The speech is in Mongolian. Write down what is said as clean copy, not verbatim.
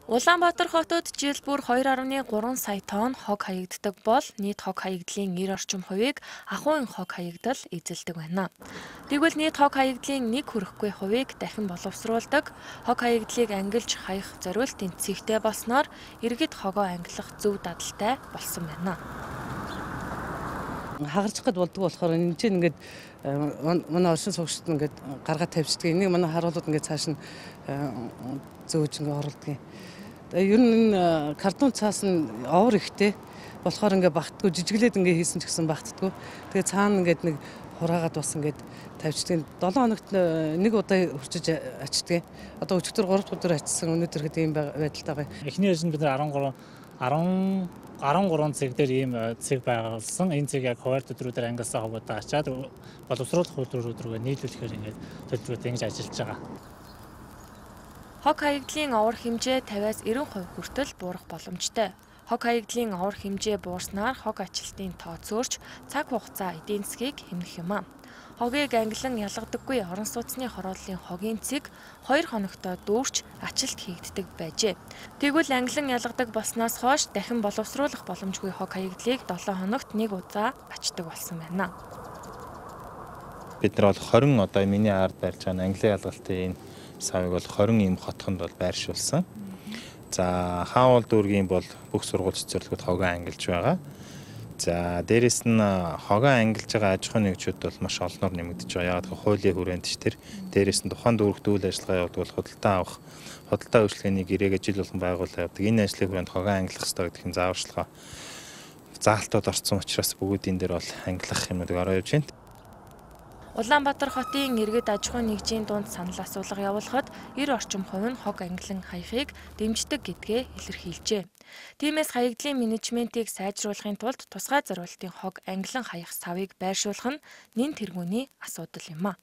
Улаанбаатар хотод жил бүр 2.3 сая тонн хог хаягддаг бол нийт хог хаягдлын 90 орчим хувийг ахуйн хог хаягдал эзэлдэг байна. Тэгвэл нийт хог хаягдлын 1 хүрэхгүй хувийг дахин боловсруулдаг хог хаягдлыг ангилж хаях зориулт тэнцвэртэй болсноор иргэд хогоо ангилах зөв дадалтай болсон байна. Хагарч гад болдгоо болохоор энэ чинь ингээд манай оршин суугчид ингээд гаргаад тавьчихдаг. Энийг манай харуулууд ингээд цааш нь зөөж ингээд оруулдаг. Ер нь энэ картон цаас нь овор ихтэй болохоор ингээд багтдаггүй, жижиглээд ингээд хийсэн ч гэсэн багтдаггүй. Тэгээ цаана ингээд нэг хураагаад бас ингээд тавьчихдаг. 7 хоногт нэг удаа хурцж ачдаг. Одоо өчигдөр 3 дахь өдөр ачсан. Өнөөдөр хэд ийм байдалтай байгаа. Эхний ээлжинд бид 13 цэг дээр ийм цэг байгуулсан. Энэ цэг яг хуваар төдрүүдээр ангилсан хогуудаа ачаад боловсруулах үйлдвэрүүд рүүгээ нийлүүлэхээр ингээд төлөвлөрөөд ингэж ажиллаж байгаа. Хог хаягдлын овор хэмжээ 50-аас 90% хүртэл буурах боломжтой. Хог хаягдлын овор хэмжээ буурснаар хог ачлалтын тоо зөөрч цаг хугацаа эдийн засгийг хэмнэх юм. Хогийг ангилан ялгадаггүй орон сууцны хорооллын хогийн цэг 2 хоногтой дүүрч ачлалт хийгддэг байжээ. Тэгвэл ангилан ялгадаг болсноос хойш дахин боловсруулах боломжгүй хог хаягдлыг 7 хоногт нэг удаа ачдаг болсон байна. Бид нар бол 20 одоо миний ард барьж байгаа ангилан ялгалтын энэ савыг бол 20 ийм хотхонд бол байршуулсан. За хаавал дүүргийн бол бүх сургууль цэцэрлэгүүд хогоо ангилж байгаа. За дээрэс нь хогоо ангилж байгаа аж ахуйн нэгжүүд бол маш олноор нэмэгдэж байгаа. Яг хуулийн хүрээнд ч тэр дээрэс нь тухайн дүүрэгт үйл ажиллагаа явуулах худалдаа авах, худалдаа үйлчлэгээний гэрээгээ жил болгон байгуулах явдаг. Энэ ажлын хүрээнд хогоо ангилах хэрэгтэй гэдэг нь зааварчилгаа заалтууд орсон учраас бүгд энэ дээр бол ангилах юмнуудыг ороо явж байна. Улаанбаатар хотын иргэд аж ахуйн нэгжийн дунд санал асуулга явуулахад 90 орчим хувь нь хог ангилан хаяхыг дэмждэг гэдгээ илэрхийлжээ. Тиймээс хаягдлын менежментийг сайжруулахын тулд тусгай зориултын хог ангилан хаях савыг байршуулах нь нэн тэргүүний асуудал юм а.